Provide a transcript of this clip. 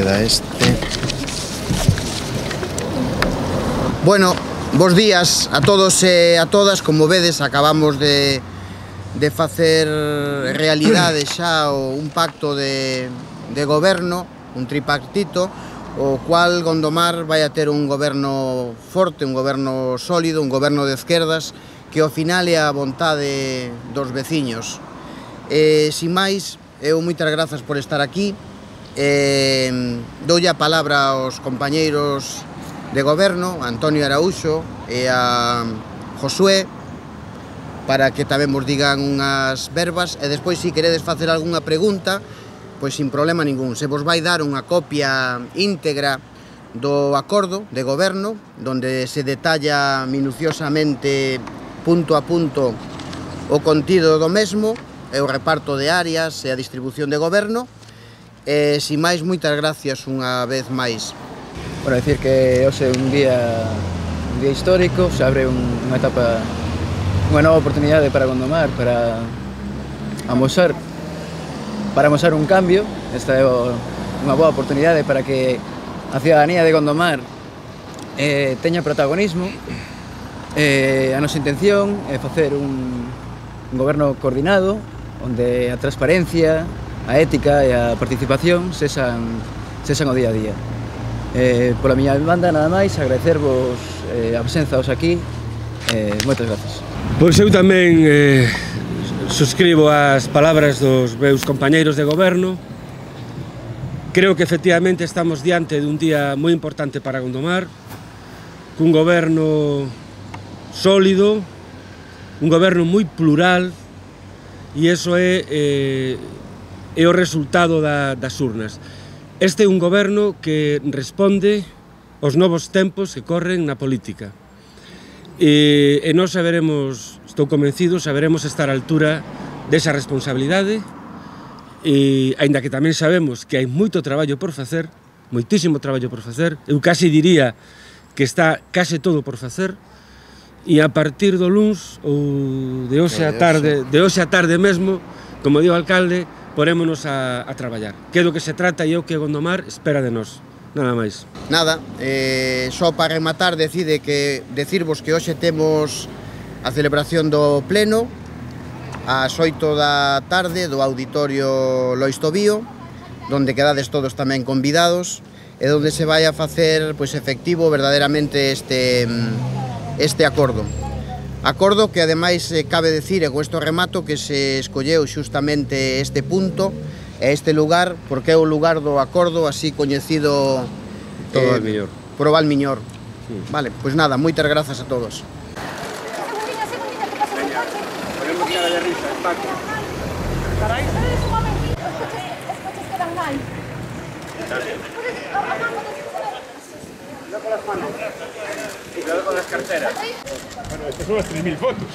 queda este. Bueno, bos días a todos e a todas. Como vedes, acabamos de facer realidade xa un pacto de goberno, un tripartito, o cual Gondomar vai a ter un goberno forte, un goberno sólido, un goberno de esquerdas, que ao final é a vontade dos veciños. Sin máis, eu moitas grazas por estar aquí. Doulle a palabra aos compañeiros de goberno, a Antonio Araúxo e a Josué, para que tamén vos digan unhas verbas, e despois, se queredes facer algunha pregunta, pois sin problema ningún. Se vos vai dar unha copia íntegra do acordo de goberno, donde se detalla minuciosamente, punto a punto, o contido do mesmo, e o reparto de áreas e a distribución de goberno. Sin máis, moitas gracias unha vez máis. Bueno, decir que hoxe é un día histórico, se abre unha etapa, unha nova oportunidade para Gondomar, para amosar un cambio. Esta é unha boa oportunidade para que a cidadanía de Gondomar teña protagonismo. A nosa intención é facer un goberno coordinado, onde a transparencia, a ética e a participación sexan o día a día. Pola miña banda, nada máis, agradecervos a presenza aquí. Moitas grazas. Pois eu tamén suscribo as palabras dos meus compañeiros de goberno. Creo que efectivamente estamos diante dun día moi importante para Gondomar, cun goberno sólido, un goberno moi plural, e iso é o resultado das urnas. Este é un goberno que responde aos novos tempos que corren na política. E nós saberemos, estou convencido, saberemos estar á altura desa responsabilidade, e aínda que tamén sabemos que hai moito traballo por facer, moitísimo traballo por facer, eu casi diría que está case todo por facer, e a partir do luns ou de hoxe a tarde mesmo, como di o alcalde, porémonos a traballar. Que é do que se trata e o que Gondomar espera de nós. Nada máis. Nada, só para rematar, decirvos que hoxe temos a celebración do pleno ás 8 da tarde do Auditorio Lois Tobío, donde quedades todos tamén convidados, e donde se vai a facer efectivo verdadeiramente este acordo. Acordo que, ademais, cabe decir, e con isto remato, que se escolleu xustamente este punto e este lugar, porque é o lugar do acordo, así coñecido por o Valmiñor. Vale, pois nada, moitas grazas a todos. Podemos tirar de risa, Paco. Carai. Un momentito, os coches quedan mal. Cuidado con las manos. Cuidado con las carteras. Bueno, estas son las 3000 fotos.